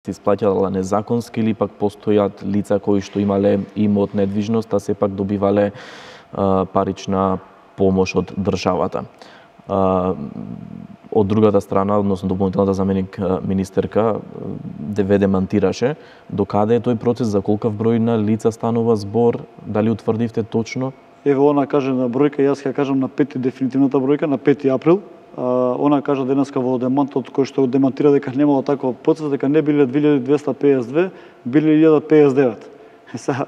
се исплаќала незаконски или пак постојат лица кои што имале имот недвижност, а сепак добивале парична помош од државата. Од другата страна, односно дополнителната заменик министерка ве демантираше. Докаде е тој процес, за колкав број на лица станува збор, дали утврдивте точно? Ево, она каже на бројка, јас ќе кажам на 5 дефинитивната бројка, на 5 април. Она кажа денеска во демантот кој што демантира дека немало таков процес, дека не биле 2252, биле 1059. Сега,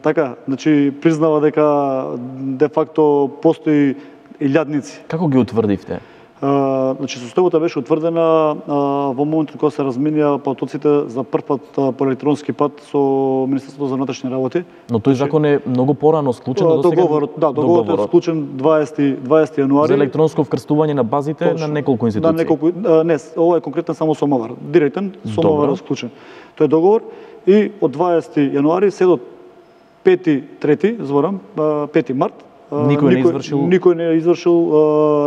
така, значи признава дека де факто постои илјадници. Како ги утврдивте? Значи состојбата беше утврдена во моментот кога се разменија потоците за прв пат по електронски пат со Министерството за внатрешни работи. Но тој закон е многу порано склучен до сега. Договорот е склучен 20 јануари. За електронско вкрстување на базите на неколку институции. На неколку, не, ова е конкретно само со МОВАР. Директен со МОВАР е склучен. Тој е договор и од 20 јануари се до 5 март никој не е извршил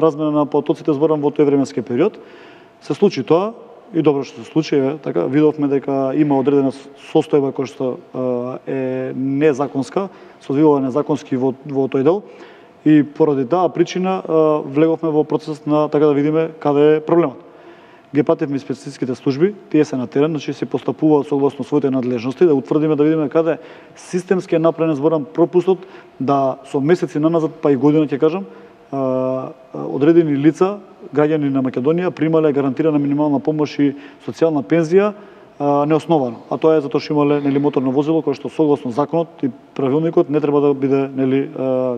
размена на потоците, зборам, во тој временски период. Се случи тоа и добро што се случи, така видовме дека има одредена состојба која што е незаконска, се одвива незаконски во тој дел и поради таа причина влеговме во процес на така да видиме каде е проблемот. Ги пративме специјските служби, тие се на терен, значи се постапуваат согласно своите надлежности, да утврдиме, да видиме каде системски е направен, зборам, пропустот, да со месеци наназад, па и година ќе кажам, одредени лица, граѓани на Македонија, примале гарантирана минимална помош и социјална пензија неосновано. А тоа е затоа што имале моторно возило кое што согласно законот и правилникот не треба да биде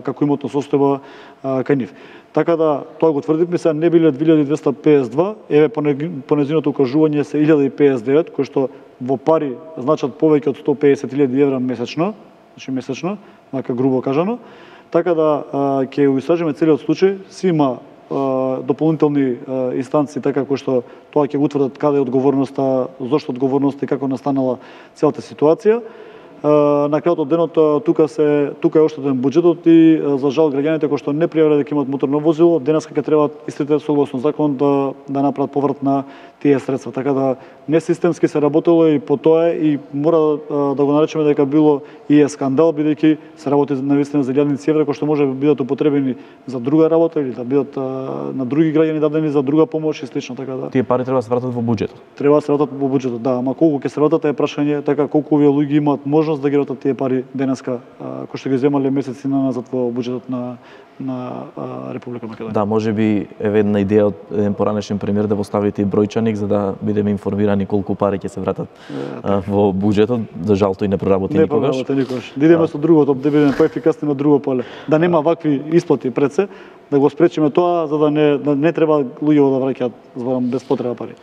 како имотна состојба кај нив. Така да тоа го тврдивме, сега не биле 2252, еве по нејзиното укажување се 1059, кои што во пари значат повеќе од 150.000 евра месечно, значи месечно, така грубо кажано. Така да ќе го истражиме целиот случај, си има дополнителни инстанции, така кои што тоа ќе го утврдат каде е одговорноста, зошто одговорноста и како настанала целата ситуација. На крајот од денот тука е оштетен буџетот и за жал граѓаните кои што не пријавиле дека имаат моторно возило, денеска ќе треба истите согласно закон да направат поврат на тие средства. Така да несистемски се работело и по тоа и мора да го наречеме дека било и е скандал, бидејќи се работи навистина за илјадници евра кои што може да бидат употребени за друга работа или да бидат на други граѓани дадени за друга помош и слично, така да. Тие пари треба да се вратат во буџетот. Треба да се вратат во буџетот, да, ама колку ќе се вратат е прашање, така колку овие луѓе имаат можност да ги вратат тие пари денеска кои што ги земале месеци назад во буџетот на Република Македонија. Да, можеби еве една идеја од еден поранешен премиер да поставите и бројчаник за да бидеме информирани колку пари ќе се вратат во буџетот. За жал тој не проработи никогаш. Не проработи никогаш. Да идеме со другото, да бидеме поефикасни на друго поле. Да нема вакви исплати пред се, да го спречиме тоа за да не треба луѓето да враќаат зборам без потреба пари.